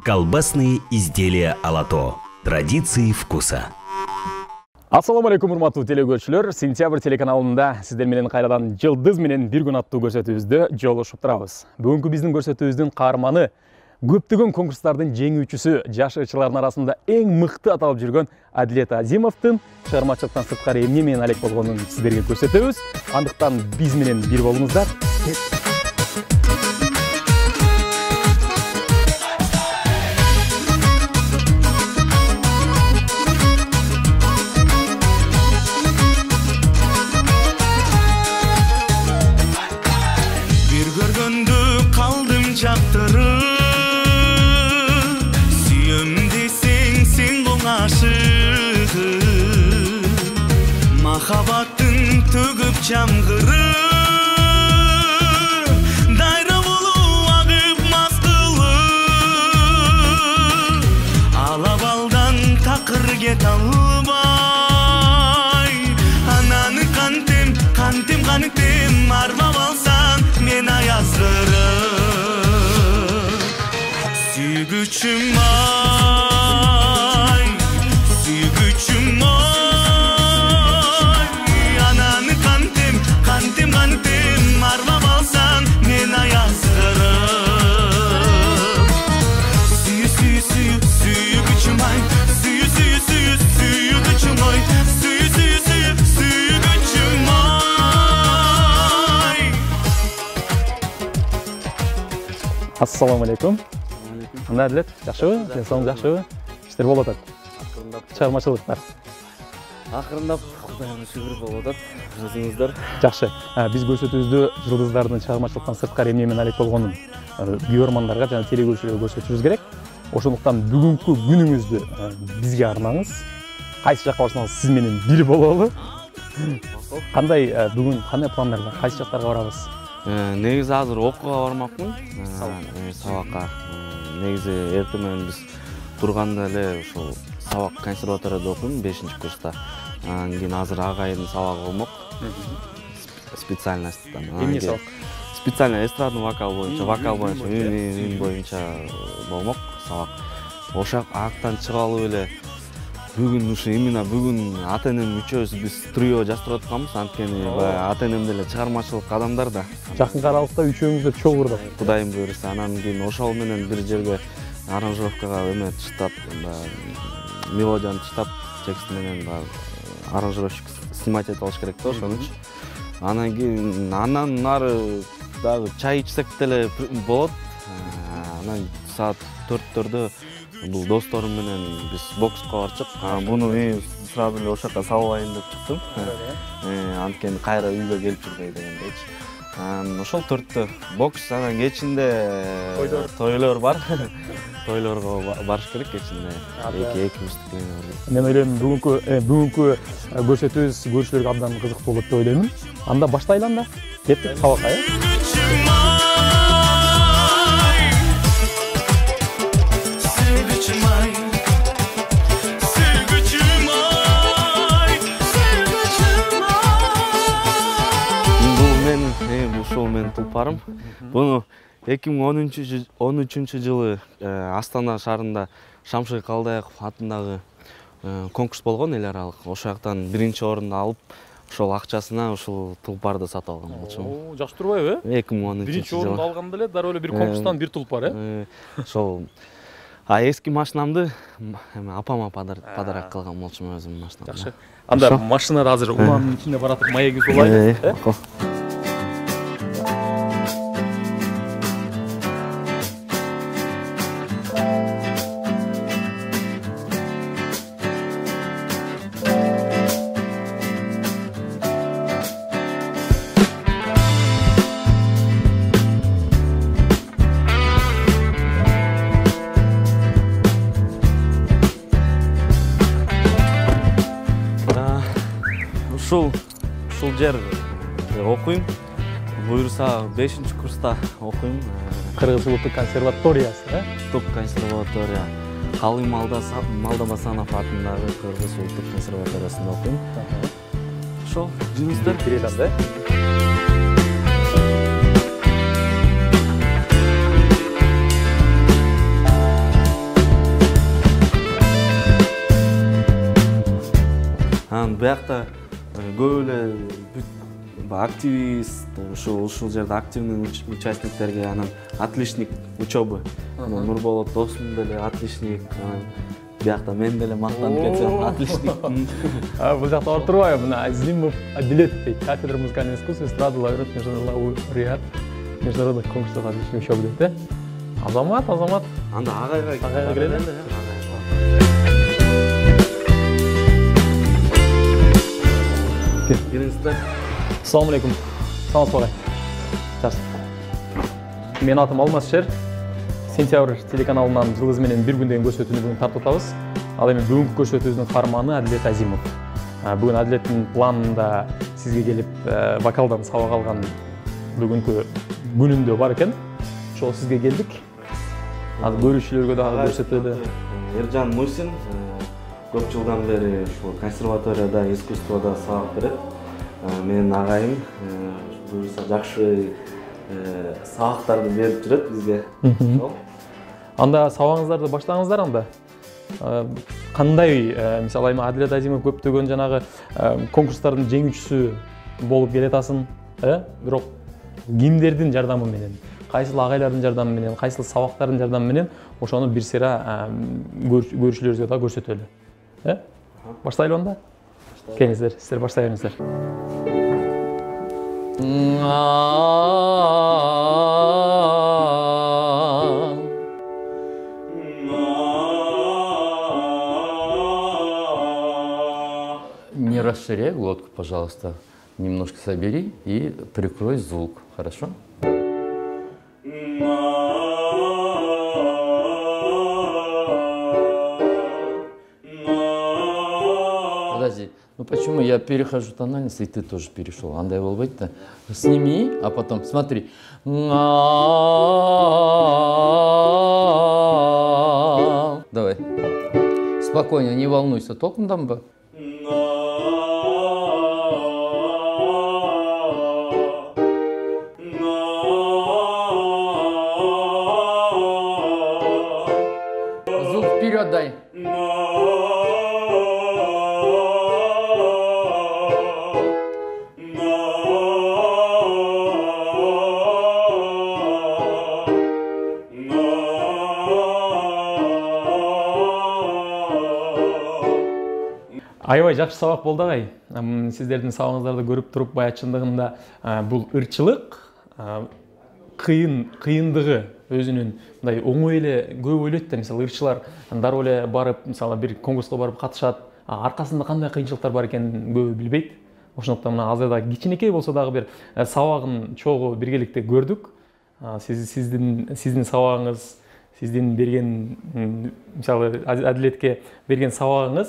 Колбасные изделия Алато. Традиции вкуса. Ассаламу алейкум, урматтуу телекөрүүчүлөр. Сентябрь телеканалында сиздер менен кайрадан жылдыз менен бир күн аттуу көрсөтүүбүздө жолугушуп турабыз. Бүгүнкү биздин көрсөтүүбүздүн каарманы көптөгөн конкурстардын жеңүүчүсү, жаш ырчылардын арасында эң мыкты аталып жүргөн Адилет Азимовдун чыгармачылыктан сырткары эмне менен алек болгонун сиздерге көрсөтөбүз. Андыктан биз менен бир болуңуздар. Махабаттың төгіп чамғыры дайра болу ағып мастылы алабалдан тақыр кет албай ананы қантем арбап алсан мен аязғыры сүйгүчүм ай сүйгүчүм ай Кантем арбап алсаң мен аязғырым сүйгүчүм ай сүйгүчүм ой сүйгүчүм ай. Ассаламу алейкум. Кандай Адилет, жакшыбы? Денсаулыгың жакшыбы? Иштер болуп атат. Чыгармачылыктар. Акырындап Кудайга шүгүр болуп атат. Өзүңүздөр жакшы. Биз көрсөтүүбүздө жылдыздардын чыгармачылыктан сырткары эмне менен алек болгонун көрөрмандарга жана телекөрүүчүлөргө көрсөтүшүбүз керек. Ошондуктан бүгүнкү күнүңүздү бизге арнаңыз. Кайсы жакка барсаңыз сиз менен бир бололу. Кандай бүгүн кандай пландар бар? Кайсы жактарга барабыз? Негизи азыр окууга бармакмын. Сабакка. Негизи эртең менен биз турганда эле ошол сабак консерваторияда окуйм 5-курста. Анан кийин азыр агайдын сабагы болмок. Специальностьтан. Эмне сабак? Специально эстрадный вокал боюнча, үн боюнча болмок сабак. Ошак актан чыгып алып эле бүгүн ушу именно бүгүн ата-энем үчөөбүз биз трио жаздырып атканбыз. Анткени баягы ата-энем деле чыгармачылык адамдар да. Жакын аралыкта үчөөңүздөр чогуу курдук. Кудайым буйруса, анан кийин ошол менен бир жерге аранжировкага эме таштап, мелодияны таштап, текст менен аранжировщик снимать этип алыш керек да ошон үчүн. Анан кийин андан нары дагы чай ичсек деле болот. Анан саат 4-төрдө бул досторум менен биз бокска барчык. Буну мен сразу эле ошакка салбайын деп чыктым. Анткени кайра үйгө келип жүрбөй дегендейчи. Ошол 4-тө бокс, анан кечинде тойлор бар. Тойлорго барыш керек кечинде. Эки мүстүк. Мен ойлойм бүгүнкү көрсөтүүбүз көрүүчүлөргө абдан кызыктуу болот деп ойлойм. Анда баштайлы анда. Кеттик сабакка. Ушул менин тулпарым. Буну 2013-жылы Астана шаарында Шамшык Калдаяков атындагы конкурс болгон эл аралык. Ошол жактан 1-орунду алып, ошол акчасына ушул тулпарды сатып алган болчумун. Жакшы турбайбы? 2013-жылы. 1-орунду алганда эле дароо эле бир конкурстан бир тулпар, Ошол эски машинамды апама подарок кылган болчумун өзүмдүн машинамды. Жакшы. Анда машинада азыр уланын ичинде баратып маегибиз болайбы? Ушул жер окуйм. Буйруса 5-курста окуйм. Кыргыз улуттук консерваториясы, Улуттук консерватория. Халым Малдабасанов атындагы Кыргыз улуттук консерваториясында окуйм. Ошол жөнүндө кирет анда. биякта көп эле активист, ушул жерде активный участниктерге анан отличник учебы. Нурболот досум деле отличник, биякта мен деле мактанып кетсем отличник. Бул жакта барып турбайбы? Мына Азимов Адилет дейт. Кафедра музыкальных искусств, эстрада, лауреат международных конкурсов отличник учебы дейт. Азамат. Анда агайга кирели. Кириңиздер. Ассаламу алейкум. Саламатсызбы агай? Жакшы. Менин атым Алмаз-Шер. Сентябрь телеканалынан жылдыз менен бир күн деген көрсөтүүнү бүгүн тартып атабыз. Ал эми бүгүнкү көрсөтүүбүздүн каарманы Адилет Азимов. Бүгүн Адилеттин планында сизге келип вокалдан сабак алган бүгүнкү күнүндө бар экен. Ошол сизге келдик. Азыр көрүүчүлөргө дагы көрсөтөлү. Эржан Мусин көп жылдан бери ушул консерваторияда искусствода сабак берет. Менин агайым буюрса жакшы сабактарды берип жүрөт бизге. Анда сабагыңыздарды баштаңыздар анда. Кандай, мисалы эми Адилет Азимов көптөгөн жанагы конкурстардын жеңүүчүсү болуп келатасың, бирок кимдердин жардамы менен, кайсыл агайлардын жардамы менен, кайсыл сабактардын жардамы менен ошону бир сыйра көрүүчүлөрүбүзгө да көрсөтөлү. Баштайлы анда? Келиңиздер, сиздер баштай бериңиздер. Не расширяй глотку, пожалуйста. Немножко собери и прикрой звук. Хорошо? Подожди. Ну почему я перехожу тональность, и ты тоже перешел? Андай болбойт-то. Сними, а потом смотри. Давай. Спокойно, не волнуйся. Толком бы. Звук вперед дай. Аябай жакшы сабак болду агай. Сиздердин сабагыңыздарды көрүп туруп, бая чындыгында бул ырчылык, кыйындыгы өзүнүн мындай оңой эле көп ойлойт да, мисалы ырчылар дароо эле барып, мисалы бир конкурска барып катышат, аркасында кандай кыйынчылыктар бар экенин көбү билбейт. Ошондуктан мына азыр да кичинекей болсо дагы бир сабагын чогуу биргеликте көрдүк. Сиздин сабагыңыз, сиздин берген, мисалы Адилетке берген сабагыңыз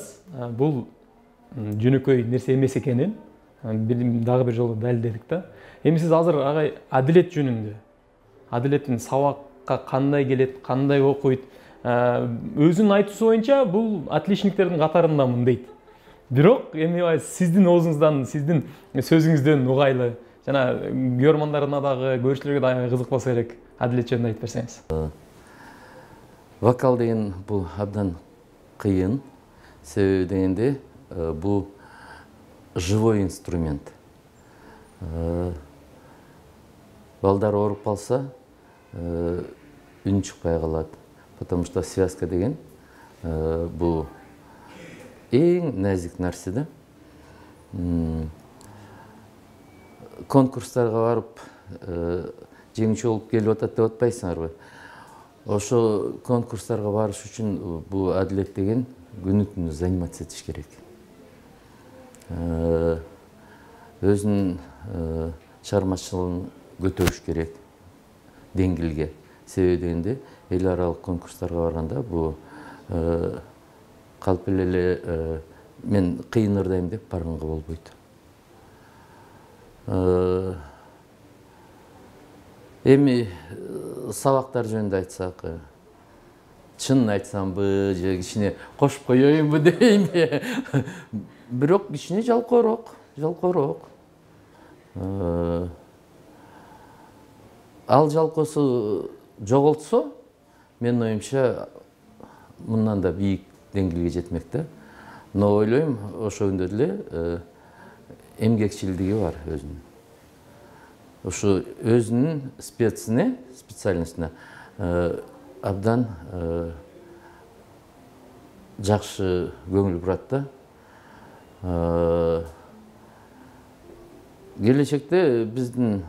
бул жөнөкөй нерсе эмес экенин дагы бир жолу далилдедик да. Эми сиз азыр агай Адилет жөнүндө, Адилеттин сабакка кандай келет, кандай окуйт, өзүнүн айтуусу боюнча бул отличниктердин катарындамын дейт. Бирок эми сиздин оозуңуздан, сиздин сөзүңүздөн угайлы, жана көрөрмандарына дагы, көрүүчүлөргө дагы кызык болсо керек. Адилет жөнүндө айтып берсеңиз. Вокал деген бул абдан кыйын. Себеби дегенде бул живой инструмент. Балдар ооруп калса, үн чыкпай калат. Потому что связка деген бул эң назик нерсе да. Конкурстарга барып жеңүүчү болуп келип атат деп атпайсыңарбы? Ошо конкурстарга барыш үчүн бул Адилет деген күнү-түнү заниматься этиш керек. Өзүнүн чыгармачылыгын көтөрүш керек деңгээлге. Себеби дегенде эл аралык конкурстарга барганда бул калп эле мен кыйын ырдайм деп барганга болбойт. Эми сабактар жөнүндө айтсак, чынын айтсамбы, же кичине кошуп коеюнбу дейинби? Бирок кичине жалкоорок. Ал жалкоосу жоголтсо, менин оюмча мындан да бийик деңгээлге жетмек да. Но ойлойм ошондой эле эмгекчилдиги бар өзүнүн. Ошо өзүнүн специальностуна абдан жакшы көңүл бурат да. Келечекте биздин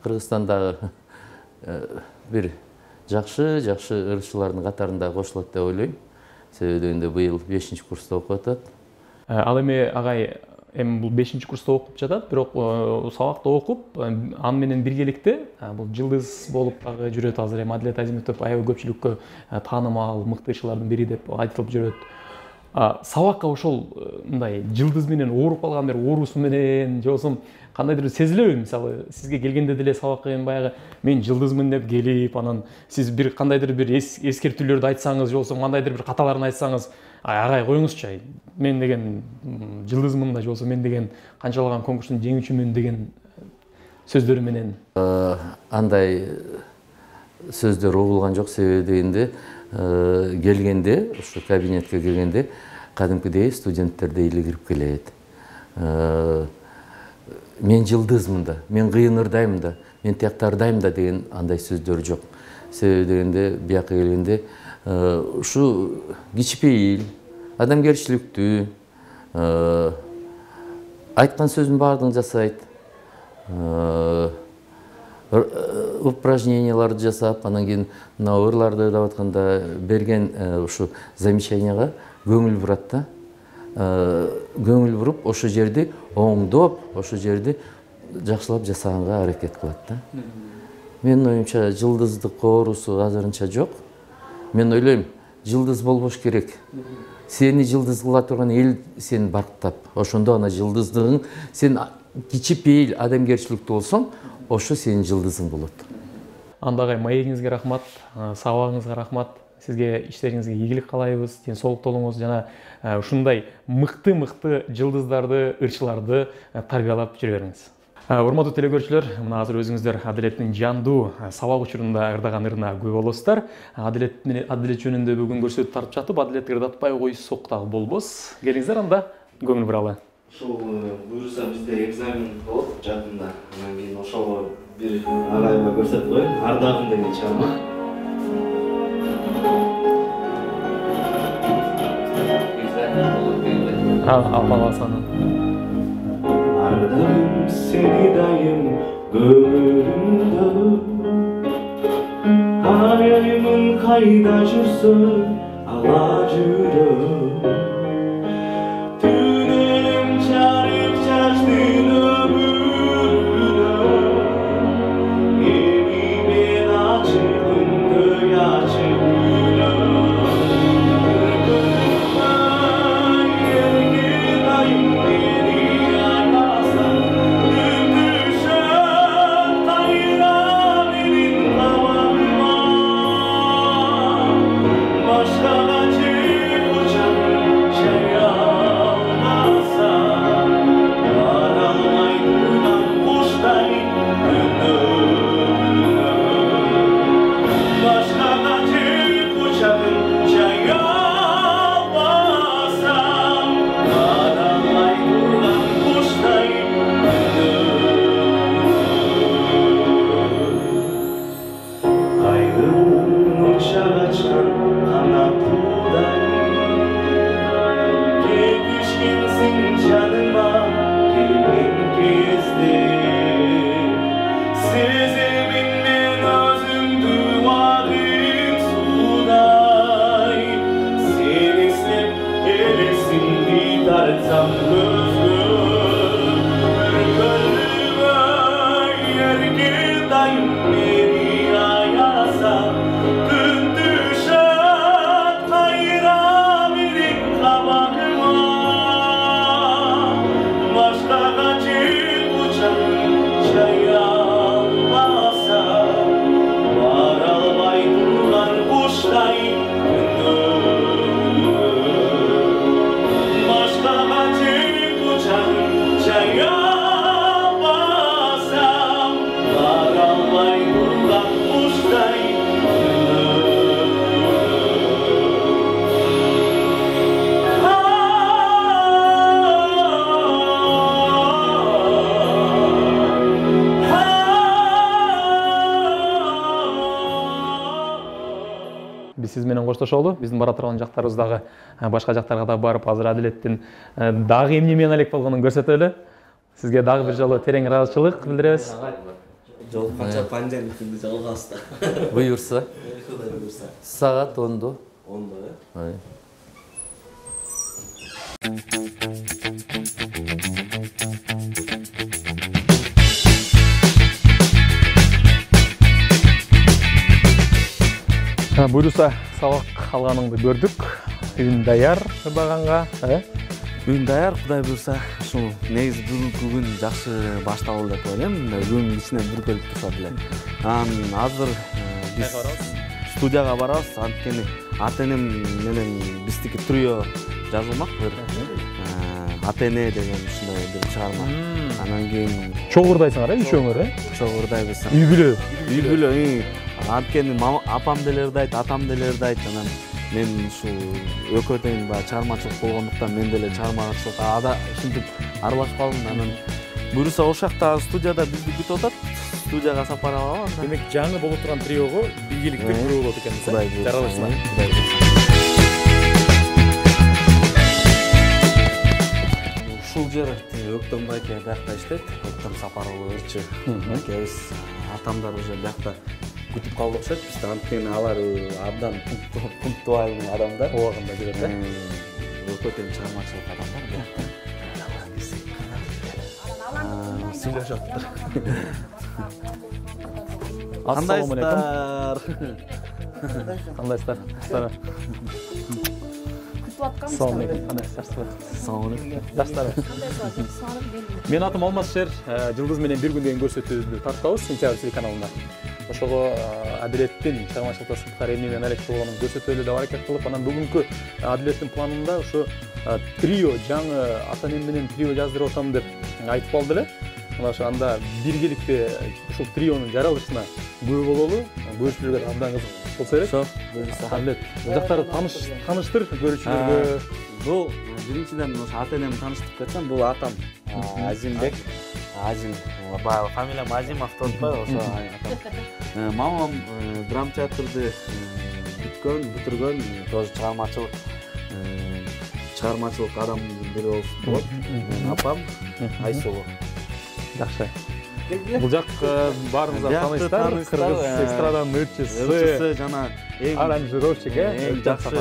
Кыргызстандагы бир жакшы ырчылардын катарында кошулат деп ойлойм. Себеби дегенде быйыл 5-курста окуп атат. Ал эми агай эми бул 5-курста окуп жатат, бирок сабакта окуп, аны менен биргеликте бул жылдыз болуп дагы жүрөт. Азыр эми Адилет Азимов аябай көпчүлүккө таанымал мыкты ырчылардын бири деп айтылып жүрөт. Сабакка ошол мындай жылдыз менен ооруп калган бир оорусу менен же болбосо кандайдыр сезилеби? Мисалы, сизге келгенде деле сабакка эми баягы мен жылдызмын деп келип, анан сиз бир кандайдыр бир эскертүүлөрдү айтсаңыз, же болбосо кандайдыр бир каталарын айтсаңыз, агай коюңузчу, мен деген жылдызмын да, же болбосо мен деген канчалаган конкурстун жеңүүчүмүн деген сөздөр менен. Андай сөздөр угулган жок. Себеби дегенде келгенде, ушу кабинетке келгенде кадимкидей студенттердей эле кирип келет. Мен жылдызмын да, мен кыйынырдайм да, мен тияктардайм да деген андай сөздөр жок. Себеби дегенде бияка келгенде ушу кичпейил, адамгерчиликтүү, айткан сөзүнүн баардыгын жасайт. Упражненияларды жасап, анан кийин мына ырларды деп атканда берген ушу замечанияга көңүл бурат да. Көңүл буруп, ошо жерди оңдоп, ошо жерди жакшылап жасаганга аракет кылат да. Менин оюмча жылдыздык оорусу азырынча жок. Мен ойлойм, жылдыз болбош керек. Сени жылдыз кыла турган эл сени барктап, ошондо ана жылдыздыгың, сен кичипейил адамгерчиликтүү болсоң, ошо сенин жылдызың болот. Андагы маегиңизге рахмат, сабагыңызга рахмат. Сизге иштериңизге ийгилик каалайбыз, ден соолук болуңуз жана ушундай мыкты жылдыздарды, ырчыларды тарбиялап жүрө бериңиз. Урматтуу телекөрүүчүлөр, мына азыр өзүңүздөр Адилеттин жандуу сабак учурунда ырдаган ырына күбө болосуздар. Адилет жөнүндө бүгүн көрсөтүп тартып жатып, Адилет ырдатпай койсок дагы болбос. Келиңиздер, анда көңүл буралы. Ошол буюрса бизде экзамен болот жакында. Анан кийин ошого бир агайга көрсөтүп коеюн. Ардагым деген чыгарма. Ардагым сени дайым көңүлүмдө, аяймын кайда жүрсөң ала жүрөм. Түнөлүм чарып чачтын өмүрүнө, эми мен ачылымды ачып başka acı uçarım. биз сиз менен коштошолу. Биздин бара турган жактарыбыз дагы башка жактарга да барып, азыр Адилеттин дагы эмне менен алек болгонун көрсөтөлү. Сизге дагы бир жолу терең ыраазычылык билдиребиз. Жолукканча пандемикти жалгабыз да. Буюрса. Саат 10-до. 10-до, э? Буюрса сабак алганыңды көрдүк. Үйүн даяр баганга, Бүгүн даяр, Кудай буйрса. Ушул негизи бүгүнкү күн жакшы башталды деп ойлойм. Күн ичинен бүркөлүп турса деле. Азыр биз студияга барабыз. Анткени ата-энем менен биздики трио жазылмак бир. Ата-эне деген ушундай бир чыгарма. Анан кийин чогурдайсыңар, үчөөңөр, чогурдайбыз. Үй бүлө. Үй бүлө. Анткени апам деле ырдайт, атам деле ырдайт. Анан мен ушул экөө тең баягы чыгармачылык болгондуктан мен деле чыгармачылыкка ушинтип аралашып калдым. Анан буюрса ошол жакта студияда бизди күтүп атат. Студияга сапар алабыз. Демек жаңы болуп турган триого бийгиликте күрөө болот экен. Кудай буйрса. Жаралышсыңар. Кудай буйрса. Ушул жер Өктөн байке биякта иштейт. Өктөн Сапаралы ырчы байкебиз. Атамдар уже биякта күтүп калды окшойт. Бизде анткени алар абдан пунктуальный адамдар. Убагында жүрөт, Өкө тең чыгармачылык адамдар биякта. Сүйлөшөттүр. Ассаламу алейкум. Кандайсыздар? Кандайсыздар? Assalamu alaikum. Assalamu alaikum. Даштар. Мен атым Алмазшер. Жылдыз менен бир күн деген көрсөтүүбүздү тартабыз Сентябрь телеканалында. Ошого Адилеттин чыгармачылыкта сырткары эмне менен алек болгонун көрсөтөлү деп аракет кылып, анан бүгүнкү Адилеттин планында ушу трио, жаңы ата-энем менен трио жаздырып атам деп айтып калды эле. Мына ошондо биргеликте ушул трионун жаралышына күбө бололу. Көрүүчүлөргө абдан кызык болсо керек. Буюрса. Адилет, бул жактарды таныштыр көрүүчүлөргө. Бул биринчиден ошо ата-энемди тааныштырып кетсем, бул атам Азимбек. Азим, баягы фамилиям Азимов деп атпайбы, ошо атам. Мамам драм театрды бүтүргөн, тоже чыгармачылык адамдын бири болот. Апам Айсулу. Жакшы. Бул жак баарыңыздар тааныйсыздар. Кыргыз эстраданын ырчысы жана аранжировщик, эң жакшы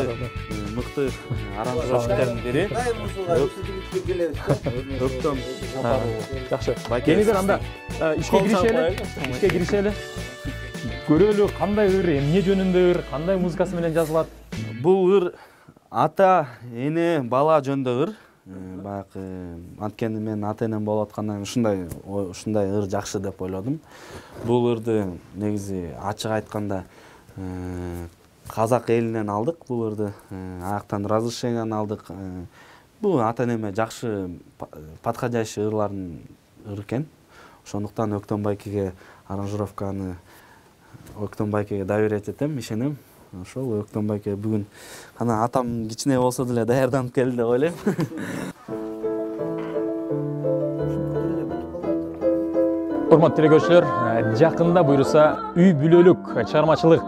мыкты аранжировщиктердин бири. Өктөн жакшы. Келиңиздер анда ишке киришели. Көрөлү кандай ыр, эмне жөнүндө ыр, кандай музыкасы менен жазылат. Бул ыр ата, эне, бала жөнүндө ыр. Баягы анткени мен ата-энем болуп аткандан ушундай ыр жакшы деп ойлодум. Бул ырды негизи ачык айтканда казак элинен алдык бул ырды. Аяктан разрешениени алдык. Бул ата-энеме жакшы подходящий ырлардын ыр экен. Ошондуктан Өктөн байкеге аранжировканы Өктөн байкеге доверять этем, ишенем. Ошол Өктөн байке бүгүн кана атам кичине болсо деле даярданып келди деп ойлойм. Урматтуу телекөрүүчүлөр, жакында буюрса үй бүлөлүк чыгармачылык,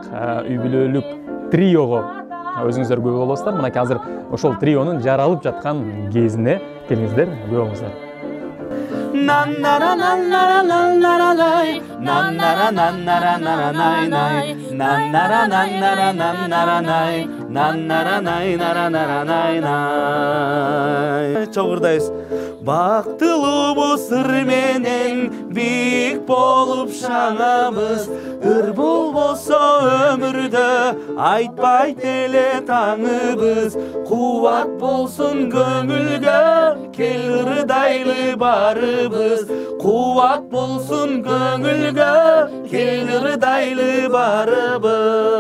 үй бүлөлүк триого өзүңүздөр күбө болосуздар. Мынакей азыр ошол трионун жаралып жаткан кезине келиңиздер, күбө болуңуздар. Чогурдайбыз. Бактылуубуз ыр менен бийик болуп шаңабыз. Ыр болбосо өмүрдө айтпайт эле таңыбыз. Кубат болсун көңүлгө, кел ырдайлы барыбыз. Кубат болсун көңүлгө, кел ырдайлы барыбыз.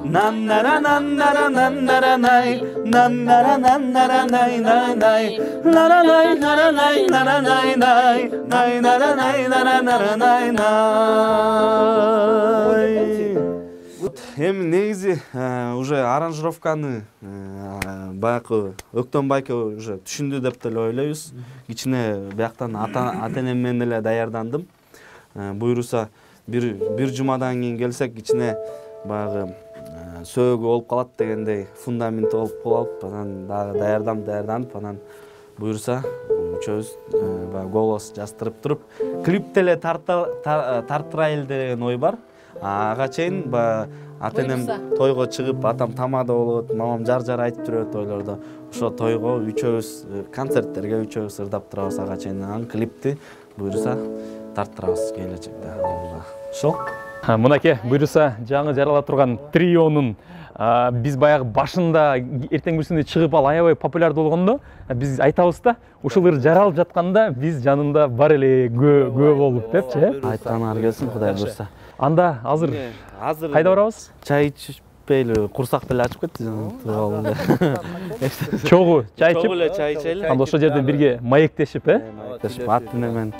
Наннара наннара наннара най, наннара наннара най най най, нара най нара най нара най най, най нара най нара нара най най. Эми негизи уже аранжировканы баягы Өктөн байке уже түшүндү деп деле ойлойбуз. Кичине бияктан ата-энем менен эле даярдандым. Буюрса бир жумадан кийин келсек кичине баягы сөөгү болуп калат дегендей фундаменти болуп калып, анан дагы даярданып, анан буюрса үчөөбүз баягы голос жаздырып туруп, клипти эле тарттырайлы деген ой бар. Ага чейин баягы ата-энем тойго чыгып, атам тамада болот, мамам жар айтып жүрөт тойлордо. Ошо тойго үчөөбүз концерттерге үчөөбүз ырдап турабыз ага чейин. Анан клипти буюрса тарттырабыз келечекте. Ошол. Мынакей буюрса жаңы жарала турган трионун биз баягы башында эртең бүрсүндө чыгып ал аябай популярдуу болгондо биз айтабыз да, ушулар жаралып жатканда биз жанында бар эле көө болуп депчи, айтканы келсин Кудай буйрса. Анда азыр кайда барабыз? Чай ичпейли, курсак деле ачып кетти. Чогуу чай ичип, чогуу эле чай ичели. анда ошол жерден бирге маектешип, Маектешип, ат-эне менен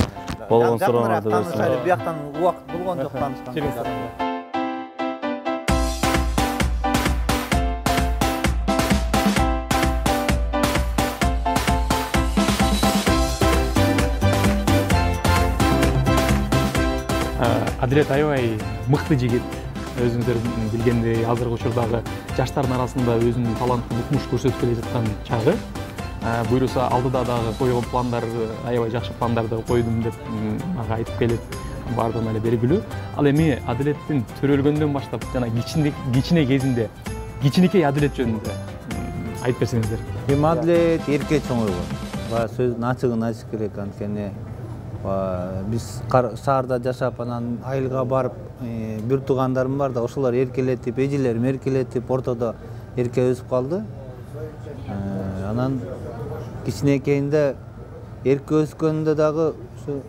болгон суроолорду берсин. Бияктан убакыт болгон жок таанышканга. Адилет аябай мыкты жигит. Өзүңүздөр билгендей, азыркы учурдагы жаштардын арасында өзүнүн талантын укмуш көрсөтүп келе жаткан чагы. Буюрса алдыда дагы койгон пландар, аябай жакшы пландарды койдум деп мага айтып келет. Бардыгына эле белгилүү. Ал эми Адилеттин төрөлгөндөн баштап жана кичине кезинде, кичинекей Адилет жөнүндө айтып берсеңиздер. Эми Адилет эрке чоңойгон. Баягы сөздүн ачыгын айтыш керек, анткени биз шаарда жашап, анан айылга барып, бир туугандарым бар да, ошолор эркелетип, эжелерим эркелетип, ортодо эрке өсүп калды. Анан кичинекейинде эрке өскөндө дагы ушу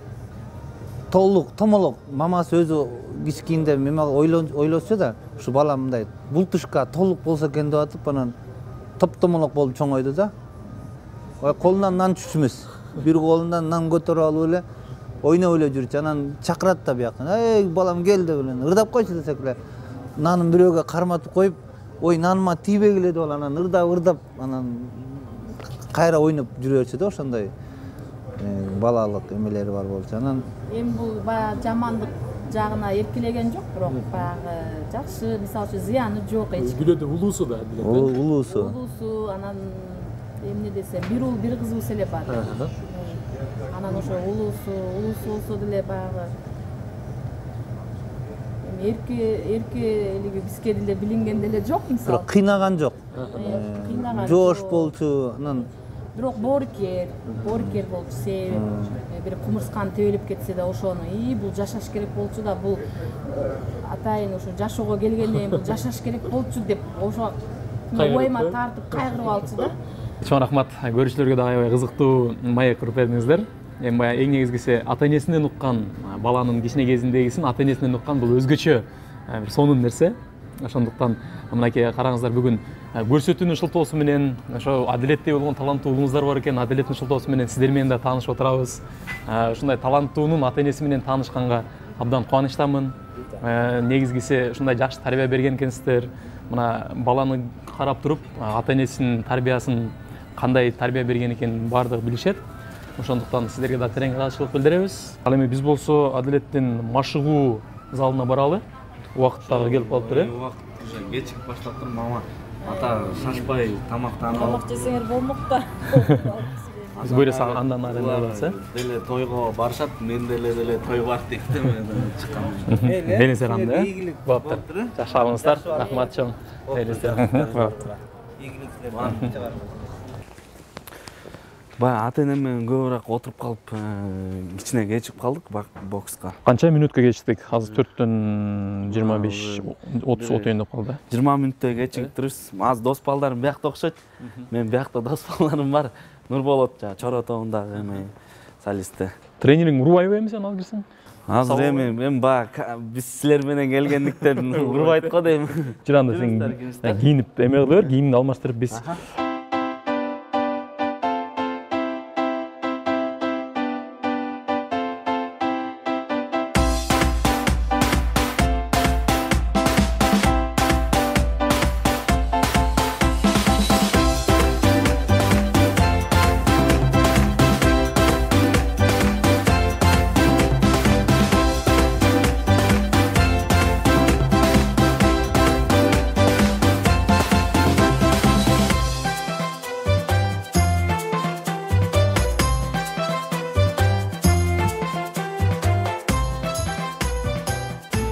толук, томолок мамасы өзү кичкийинде мема ойлосо да, ушу бала мындай бултушка толук болсо экен деп атып, анан топтомолок болуп чоңойду да. Колунан нан түшмөс. Бир колунан нан көтөрүп алып эле ойноп эле жүрчү. Анан чакырат да бияктан. "Эй, балам кел" деп эле ырдап койчу десек эле, нанын бирөөгө карматып коюп, "Ой, наныма тийбегиле" деп анан ырдап, анан кайра ойноп жүрөчү да, ошондой балалык эмелери бар болчу. Анан эми бул баягы жамандык жагына эркелеген жок, бирок баягы жакшы, мисалы үчүн зыяны жок эч. Күлөдө улуусу да Адилет. Улуусу, анан эмне десем, бир уул бир кызыбыз эле бар. Анан ошо улуусу болсо деле баягы эркелиги бизге деле билинген деле жок, мисалы. Бирок кыйнаган жок. Жош болчу, анан бирок боорукер болчу, себеп бир кумурскан тебелип кетсе да ошону бул жашаш керек болчу да, бул атайын ушу жашоого келгенден бул жашаш керек болчу деп ошо ойма тартып кайгырып алчу да. Чоң рахмат. Көрүүчүлөргө да аябай кызыктуу маек куруп бердиңиздер. Эми баягы эң негизгиси ата-энесинен уккан, баланын кичине кезиндегисин ата-энесинен уккан бул өзгөчө бир сонун нерсе. Ошондуктан мынакей караңыздар, бүгүн көрсөтүүнүн шылтоосу менен ошо Адилеттей болгон таланттуу уулуңуздар бар экен. Адилеттин шылтоосу менен сиздер менен да таанышып отурабыз. Ушундай таланттуунун ата-энеси менен таанышканга абдан кубанычтамын. Негизгиси ушундай жакшы тарбия берген экенсиздер. Мына баланы карап туруп, ата-энесинин тарбиясын кандай тарбия берген экенин баардыгы билишет. Ошондуктан сиздерге да терең ыраазычылык билдиребиз. Ал эми биз болсо Адилеттин машыгуу залына баралы. Убакыт дагы келип калыптыр, Убакыт уже кечигип баштаптыр, мама. Ата шашпай тамактанып. Тамак жесеңер болмок да. Биз буйрса андан ары барабыз, Деле тойго барышат, мен деле той бар дейт мен чыккан. Мени саранда. Болуптур. Жакшы алыңыздар. Рахмат чоң. Баягы ата-энем менен көбүрөөк отуруп калып, кичине кечип калдык бокска. Канча минутка кечтик? Азыр 4-төн 25, 30 отойн деп калды. 20 мүнөттөй кечиктирибиз. Аз дос балдарым биякта окшойт. Мен биякта дос балдарым бар. Нурболот Чоро тобундагы эми солисти. Тренериң урбайбы эми сен ал кирсең? Азыр эми баягы биз силер менен келгендиктен урбайт го дейм. Жыранда сен кийинип эме кылып бер, кийимди алмаштырып биз.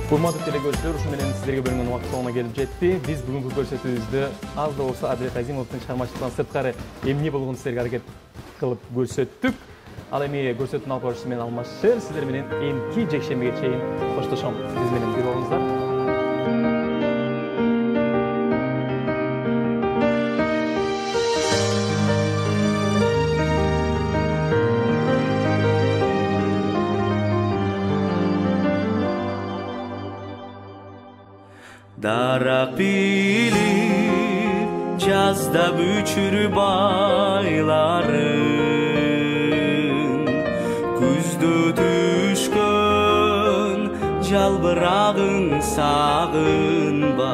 Урматтуу телекөрүүчүлөр, ушу менен сиздерге бөлүнгөн убакыт соңуна келип жетти. Биз бүгүнкү көрсөтүүбүздү аз да болсо Адилет Азимовдун чыгармачылыктан сырткары эмне болгонун сиздерге аракет кылып көрсөттүк. Ал эми көрсөтүүнүн алып баруучусу мен Алмазшер, сиздер менен эмки жекшембиге чейин коштошом. Биз менен бир болуңуздар. Дарак билип жазда бүчүрүп айларын, күздө түшкөн жалбырагын сагынбай.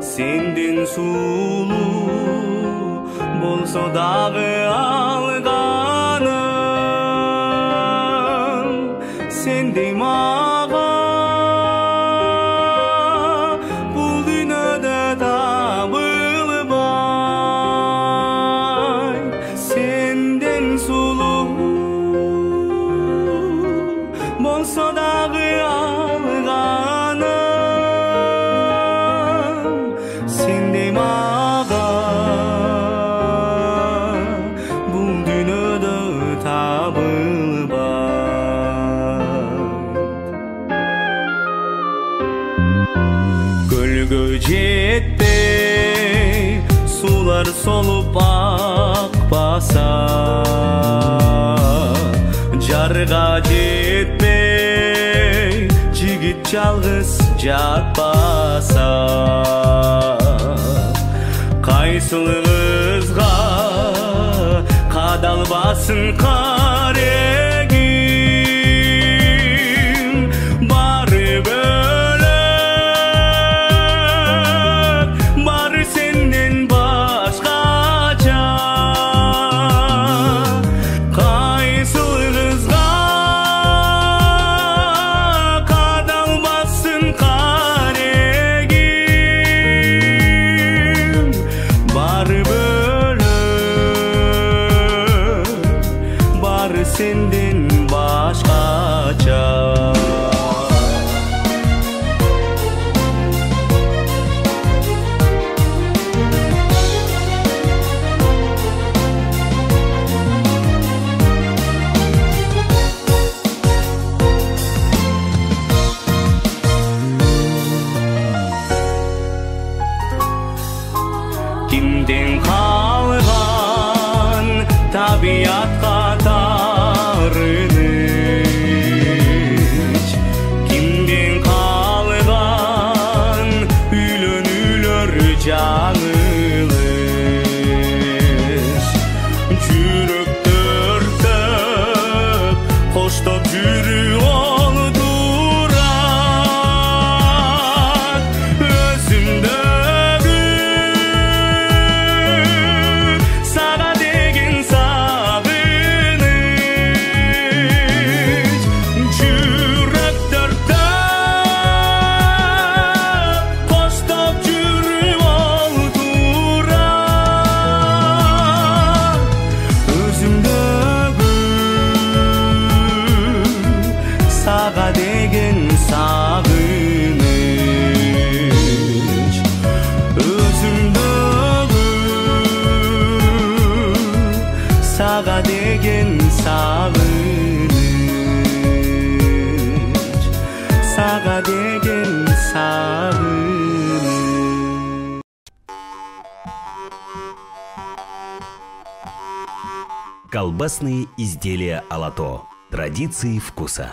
Сенден сулуу болсо дагы алганым, сендей болсо дагы алганым, сендей мага бул дүйнөдө табылбайт. Көлгө жетпей сулар солуп акпаса, жарга жетпей жигит жалгыз жатпаса, кайсылыгызга кадалбасын карегим, бары бөлөк, бары сенден башкача. Senden başkaça. Kimden kalgan tabiatka kimden kalgan üylönülür canılış, жүрөк төртөп коштоп жүрүү олдурат өзүмдөгү сага деген сагыныч. Жүрөк төртөп коштоп жүрүү олдурат өзүмдөгү сага деген сагыныч. Өзүмдөгү сага деген сагыныч, сага деген сагыныч. Колбасные изделия Алато. Традиции вкуса.